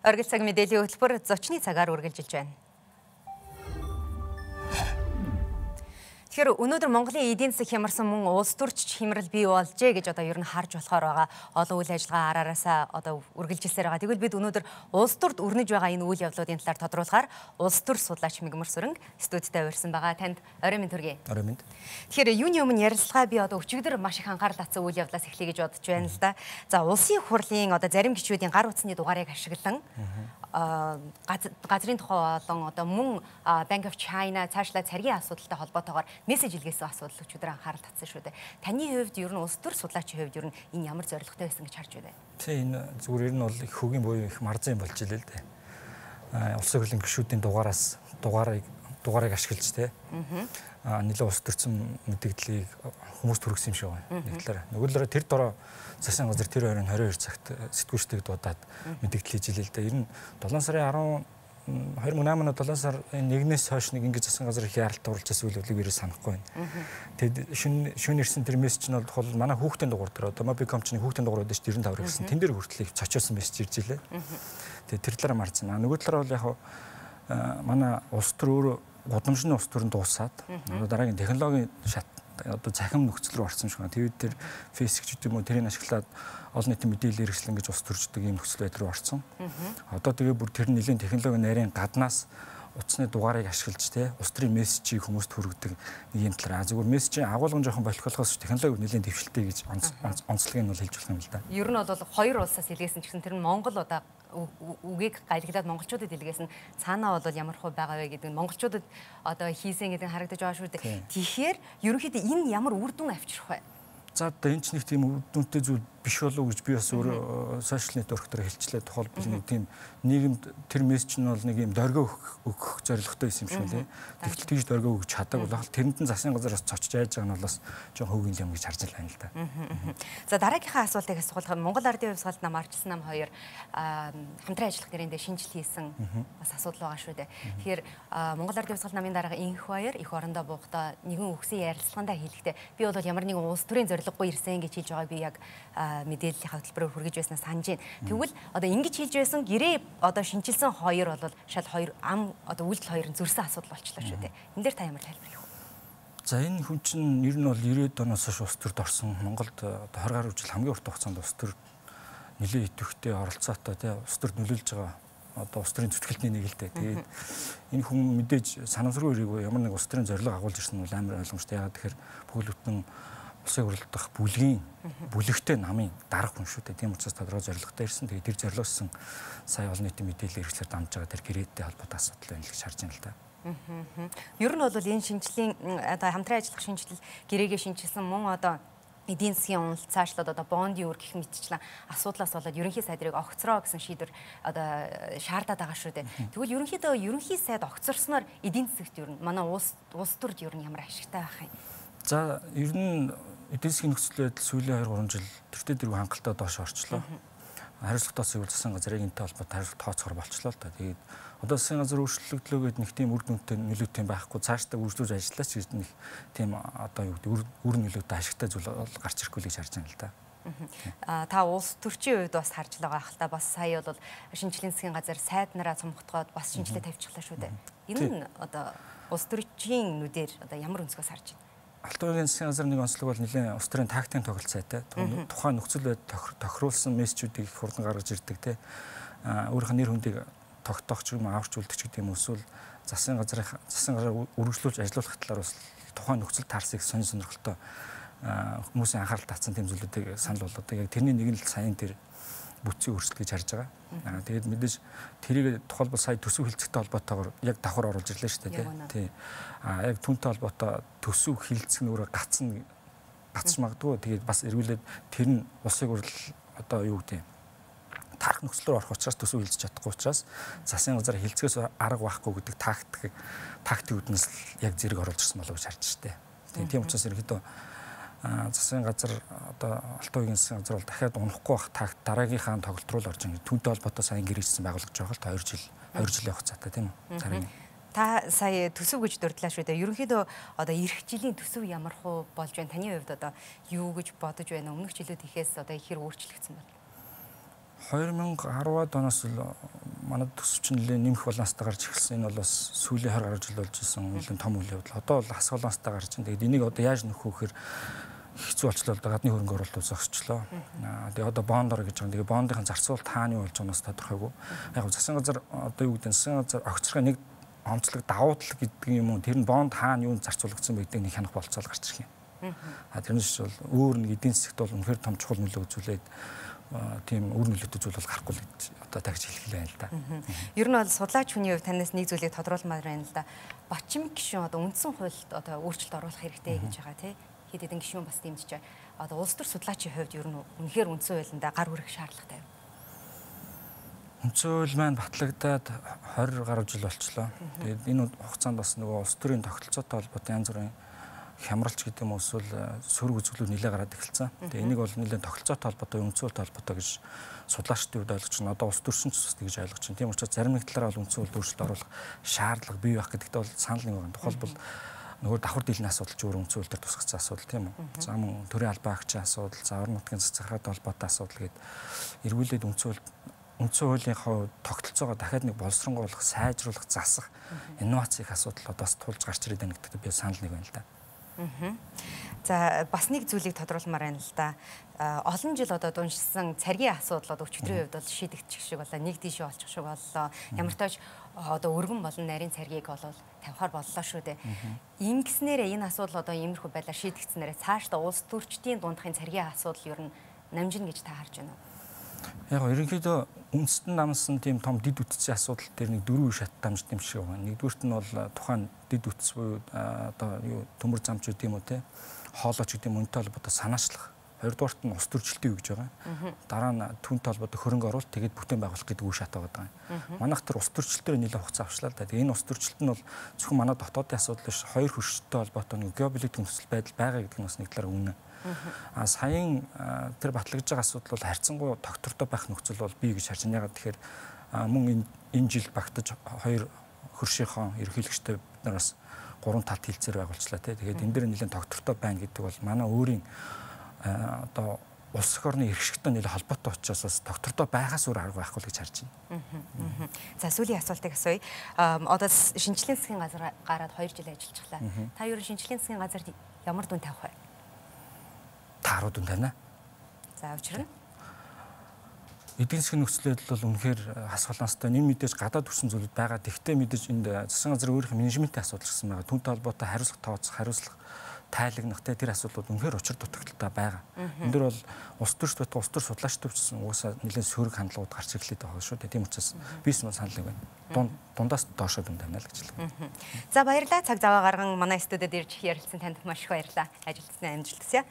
Оргил цаг мэдээллийн хөтөлбөр зочны цагаар үргэлжилж байна. Тэгэхээр өнөөдөр Монголын эдийн засаг хямарсан мөн улс төрч хямрал бий болжээ гэж ер нь харж болохоор байгаа. Олон үйл ажиллагаа араараасаа үргэлжилсээр байгаа. Тэгвэл бид өнөөдөр улс төрд өрнөж байгаа энэ үйл явдлуудын талаар тодруулахаар улс төр судлаач Мигмар Сүрэнг студидд авирсан байгаа. Танд орой минь төргий. Орой минь. Тэгэхээр юуны өмнө ярилцлага би өчигдөр маш их анхаарал татсан үйл явдлаас эхлэе гэж бодож байна л да. За улсын хурлын зарим гишүүдийн гар утасны дугаарыг ашиглан газрын тухай болон мөн Bank of China цаашлаа царгийн асуудалтай холбоотойгоор мессеж илгээсэн асуудал өчигдөр анхаарал татсан шүү дээ. Таны хувьд ер нь улс төр судлаачийн хувьд ер нь энэ ямар зорилготой байсан гэж харж байна? Тийм энэ зүгээр ер нь бол их хөгийн буюу их марзан юм болж илээ л дээ. Улсын хурлын гишүүдийн дугаарыг ашиглаж те. Нэлээд улс төрсөн мэдээллийг хүмүүст хүргэсэн юм шиг байна. Нэг талаараа. Нөгөө талаараа тэр дороо засгийн газар тэр 22 цагт сэтгүүлчдийг дуудаад мэдээлэл хийж илээ л дээ. Ер нь 7 сарын 2008 оны 7 сар 1-ээс хойш нэг ингэж засгийн газар их яралт оруулж байсан үйл явдлыг ерөөс санахгүй байна. Тэгэд шөнө ирсэн тэр мессеж нь бол манай хүүхдийн дугаар дээр Mobicom-чны хүүхдийн дугаар үүдэж 95 гэсэн тэн дээр хүртэл цочоосон мессеж ирж илээ. Тэгээд тэр талаараа марцсан. Нөгөө талаараа бол яг манай улс төр өөрөө гудамжны улс төрөнд дуусаад дараагийн технологийн шат захим нөхцөл рүү орсон шиг байна. Тэгээд тэр Facebook ч гэдэг юм уу тэрийг ашиглаад олон нийтийн мэдээлэл хэрэгслэн гэж ус төрждөг ийм нөхцөл байдал руу орсон. Одоо тэгээ бүр тэр нэлийн технологийн нарийн гаднаас утасны дугаарыг ашиглаж те улс төрийн мессежийг хүмүүст хүргэдэг нэг юм талаар зүгээр мессежийн агуулгын жоохон болохоос технологи нэлийн дэвшилтэй гэж онцлогийг нь бол хэлж болох юм л да. Ер нь бол хоёр улсаас илгээсэн ч гэсэн тэр нь Монгол үгийг гайлглаад монголчуудад илгээсэн цаанаа бол ямар хөө байгаа вэ гэдэг нь монголчуудад хийсэн гэдэг нь харагдаж байгаа шүү дээ. Тэгэхээр ерөнхийдөө энэ ямар үр дүн авчрах вэ? За энэ ч нэг тийм үр дүнтэй зүйл биш болов уу гэж би бас өөр сошиал нэтворктоор хэлчлээ. Тухайлбал нэг тийм нийгэмд тэр мессеж нь бол нэг юм дөргөө өгөх зорилготой байсан юм шиг лээ. Тэгтэл тийж дөргөө өгч чадаагүй бол тэрэнд нь засгийн газараас цочж айж байгаа нь болоос жоохон хөгийн юм гэж харж байна л да. За дараагийнхаа асуултыг асуулах Монгол Ардын хувьсгалд нам Арчилсан нам хоёр хамтран ажиллах гэрээндээ шинжил хийсэн бас асуудал байгаа шүү дээ. Тэгэхээр Монгол Ардын хувьсгалд намын дарга Инх баяр их орондоо буухдаа нэгэн үгсийн ярилцлагандаа хэлэхдээ би бол ямар нэгэн улс төрийн зорилгогүй ирсэн гэж хэлж байгааг би яг мэдээллийн хөтөлбөрөөр хүргэж байснаа санаж байна. Тэгвэл ингэж хэлж байсан гэрээ шинжилсэн хоёр бол шал хоёр үйлдэл хоёр нь зөрсөн асуудал болчихлоо шүү дээ. Энэ дээр та ямар тайлбар хийх вэ? За энэ хүн чинь ер нь бол 90-ад оноос хойш улс төрд орсон. Монголд 20 гаруй жил хамгийн урт хугацаанд улс төр нэлээд идэвхтэй оролцоотой улс төрд нөлөөлж байгаа улс төрийн зүтгэлтний нэг л дээ. Тэгээд энэ хүн мэдээж санамсаргүй ирээгүй ямар нэг улс төрийн зорилго агуулж ирсэн нь бол амар ойлгомжтой. Яагаад тэгэхээр бүхэл бүтэн улсын хурлд дах бүлэгтэй намын дарга хүн шүү дээ. Тийм учраас тодорхой зорилготой ирсэн. Тэгээд тэр зорилгосон сая олон нийтийн мэдээлэл хэрэгслээр дамжиж байгаа тэр гэрээтэй холбоотой асуудал байна л гэж харж байна л да. Ер нь бол энэ шинжиллийн хамтран ажиллах шинжилэл гэрээгээ шинжилсэн мөн эдийн засгийн уналт цаашлаад бондын үр гэх мэтчлэн асуудлаас болоод ерөнхий сайдрыг огцроо гэсэн шийдвэр шаардаад байгаа шүү дээ. Тэгвэл ерөнхийдөө ерөнхий сайд огцорсноор эдийн засагт ер нь манай улс төрд ер нь ямар ашигтай байх юм? За ер нь эдийн засгийн нөхцөл байдал сүүлийн 2-3 жил тэртээ дэргүй хангалттай доош орчлоо. Хариуцлагатаас ивэл засгийн газрын энэтэй холбоотой хариуцлага тооцохоор болчлоо л да. Тэгээд одоо засгийн газар өөрчлөгдлөө гэдэг нэг тийм үр дүнтэй нөлөөтэй байхгүй цаашдаа үргэлжлүүлж ажиллаж гэж нэг тийм үр нөлөөтэй ашигтай зүйл гарч ирэхгүй л гэж харж байна л да. Та улс төрчийн үед бас харж байгаа хэл та бас сая бол шинжлэлийн засгийн газар сайд нараа цомготгоод бас шинжилгээ тавьчихлаа шүү дээ. Энэ нь улс төрчийн нүдээр ямар өнцгөөс харж байна? Алтан уурын засгийн газар нэг онцлог бол нэлээд улс төрийн тактикийн тоглолт сайтай. Тухайн нөхцөл байдал тохируулсан мессежүүдийг их хурдан гаргаж ирдэг те. Өөрийнх нь нэр хүндийг тогтоох ч юм аварч үлдэх ч гэдэг юм эсвэл засгийн газар үргэлжлүүлж ажиллах талаар бас тухайн нөхцөл таарсыг сонирхолтой хүмүүсийн анхаарал татсан тийм зүйлүүдийг санал болгодог. Яг тэрний нэг нь л саяын тэр бүтцийн өөрчлөлт гэж харж байгаа. Тэгээд мэдээж тэрийг тухайлбал сая төсөв хилцэгтэй холбоотойгоор яг давхар оруулж ирлээ шүү дээ. Тий. Яг түүнтэй холбоотой төсөв хилцэх нь өөрөө гацч магадгүй. Тэгээд бас эргүүлээд тэр нь улсын хурл юу гэдэг тарах нөхцөл рүү орох учраас төсөв хилцэж чадахгүй учраас засгийн газар хилцгээс арга байхгүй гэдэг тактикүүднээс яг зэрэг оруулж ирсэн болов уу гэж харж штэ. Тийм учраас ерөнхийдөө засгийн газар Алтан уурын засгийн газар бол дахиад унахгүй байх дараагийнхаа тоглолт руу л орж байгаа. Түүнтэй холбоотой сайн гэрээжсэн байгууллагч байгаа л 2 жилийн хугацаатай тийм үү? Та сая төсөв гэж дурдлаа шүү дээ. Ерөнхийдөө эх жилийн төсөв ямар хөө болж байна? Таны хувьд юу гэж бодож байна? Өмнөх жилүүд ихээс ихэр өөрчлөгдсөн байна. 2010-ад оноос манай төсөвч нэлээд нэмэх баланстай гарч ирсэн. Энэ бол бас сүүлийн 20 гаруй жил болж исэн нэлээд том үйл явдал. Одоо бол хас баланстай гарч ин. Тэгээд энийг одоо яаж нөхөх вэхээр хэцүү болчлоо л да гадны хөрөнгө оруулалт зогсчлоо. Тэгээд одоо бондор гэж байгаа. Тэгээд бондын зарцуулалт хаана юу болж байгаанаас тодорхойгүй. Яг засгийн газар одоо юу гэдэг нь засгийн газар огцрохын нэг онцлог давуу тал гэдэг юм уу. Тэр нь бонд хаана юу зарцуулагдсан байдгийг нэг хянах болцоол гарч ирэх юм. Тэрнээс бол өөр нэг эдийн засгт бол үнэхээр том чухал нөлөө үзүүлээд тийм үр нөлөөтэй зүйл бол гарахгүй л гэж одоо тагж хэлэх юм л да. Ер нь бол судлаач хүний хувьд танаас нэг зүйлийг тодруулмаар байна л да. Бачим гишүүн одоо үндсэн хуульд одоо өөрчлөлт оруулах хэрэгтэй гэж байгаа тий. Хэд хэдэн гишүүн бас дэмжиж байгаа. Одоо улс төр судлаачийн хувьд ер нь үнэхээр үндсэн хуулиндаа гар хүрэх шаардлагатай. Үндсэн хууль маань батлагдаад 20 гаруй жил болчлоо. Тэгээд энэ хугацаанд бас нөгөө улс төрийн тогтолцоотой холбоотой янз бүрийн хямралч гэдэг юм эсвэл сөрөг үзүүлэлт нэлээд гараад эхэлсэн. Тэгээ энийг бол нэлээд тогтолцоотой холбоотой, үндсэн хууль холбоотой гэж судлаачдын хувьд ойлгож байна. Одоо улс төрчин ч бас тэгж ойлгож байна. Тийм учраас зарим нэг талаараа бол үндсэн хууль өөрчлөлт оруулах шаардлага бий байх гэдэгт бол санал нэг байна. Тухайлбал нөгөө давхар дийлний асуудал ч өөр үндсэн хууль дээр тусгацсан асуудал тийм үү. За мөн төрийн албан агчийн асуудал, завар нутгийн засаг захиргааны холбоотой асуудал гээд эргүүлээд үндсэн хуулийнхаа тогтолцоогоо дахиад нэг боловсронгойлох, сайжруулах, засах, инновац их асуудал одоо бас тулж гарч ирээд байна гэдэгт би санал нэг байна л да. За бас нэг зүйлийг тодруулмаар байна л да. Олон жил одоо дуншсан царгийн асуудал одоо өчигдрийн хувьд бол шийдэгдчих шиг боллоо. Нэг тийш олчих шиг боллоо. Ямар ч тач одоо өргөн болон нарийн царгийг бол тавихаар боллоо шүү дээ. Ингэснээрээ энэ асуудал одоо иймэрхүү байдлаар шийдэгдснээрээ цаашдаа улс төрчдийн дундахын царгийн асуудал ер нь намжина гэж та харж байна уу? Яг ерөнхийдөө үндэстэн намсан тийм том дид үтцийн асуудал дээр нэг дөрвөн шат дамжд юм шиг байна. Нэгдүгürt нь бол тухайн дид үтц буюу одоо юу төмөр замч гэдэг юм уу те хоолойч гэдэг юм үнэтэй холбоотой санаачлах. Хоёрдугаарт нь ус төрчлөлтөө юу гэж байгаа. Дараа нь түүнтэй холбоотой хөрөнгө оруулалт тэгээд бүтээн байгуулах гэдэг үе шат байгаа юм. Манайх тэр ус төрчлөлтөөр нэлээд хугацаа авчлаа л да. Тэгээ энэ ус төрчлөлт нь бол зөвхөн манай дотоодын асуудал биш, хоёр хөрштэй холбоотой нэг геополитик нөхцөл байдал байгаа гэдэг нь бас нэг талаар үнэ. Саяын тэр батлагдж байгаа асуудал бол харьцангуй доктортой байх нөхцөл бол бий гэж харж байна. Ягаад тэгэхээр мөн энэ жил багтаж хоёр хөршийнхөө ерөнхийлөгчтэй бид нар бас 3 талт хилцээр байгуулчлаа тий. Тэгээд энэ дээр нэлээд доктортой байна гэдэг бол манай өөрийн одоо улс орны эрхшигтэй нэлээд холбоотой учраас бас доктортой байгаас өөр арга байхгүй л гэж харж байна. За сүүлийн асуултыг асууя. Одоо шинжлэлийн засгийн газар гараад 2 жил ажиллажглаа. Та ер нь шинжлэлийн засгийн газарт ямар дүн тавих вэ? Тааруу дүн тавина. За учир нь эдийн засгийн нөхцөл байдал бол үнэхээр хас баланстай. Энэ мэдээж гадаад төрсэн зүйлүүд байгаа. Тэгвэл мэдээж энд засгийн газрын өөрийнх нь менежментийн асуудал гэсэн байгаа. Түүнтэй холбоотой хариуцлага тооцох, хариуцлага тайлагнах тэр асуудлууд үнэхээр учир дутагдaltaй байгаа. Энэ дөр бол улс төрч байтугай улс төр судлаачтай ч уусаа нэлээд сөрөг хандлагууд гарч ирлээд байгаа шүү дээ. Тийм учраас бис мөн санал нэг байна. Дундаас доошоо дүн тавина л гэж хэлдэг. За баярлалаа. Цаг зав гарган манай студид ирж ярилцсан танд маш их баярлалаа. Ажилтны амжилт хүсье.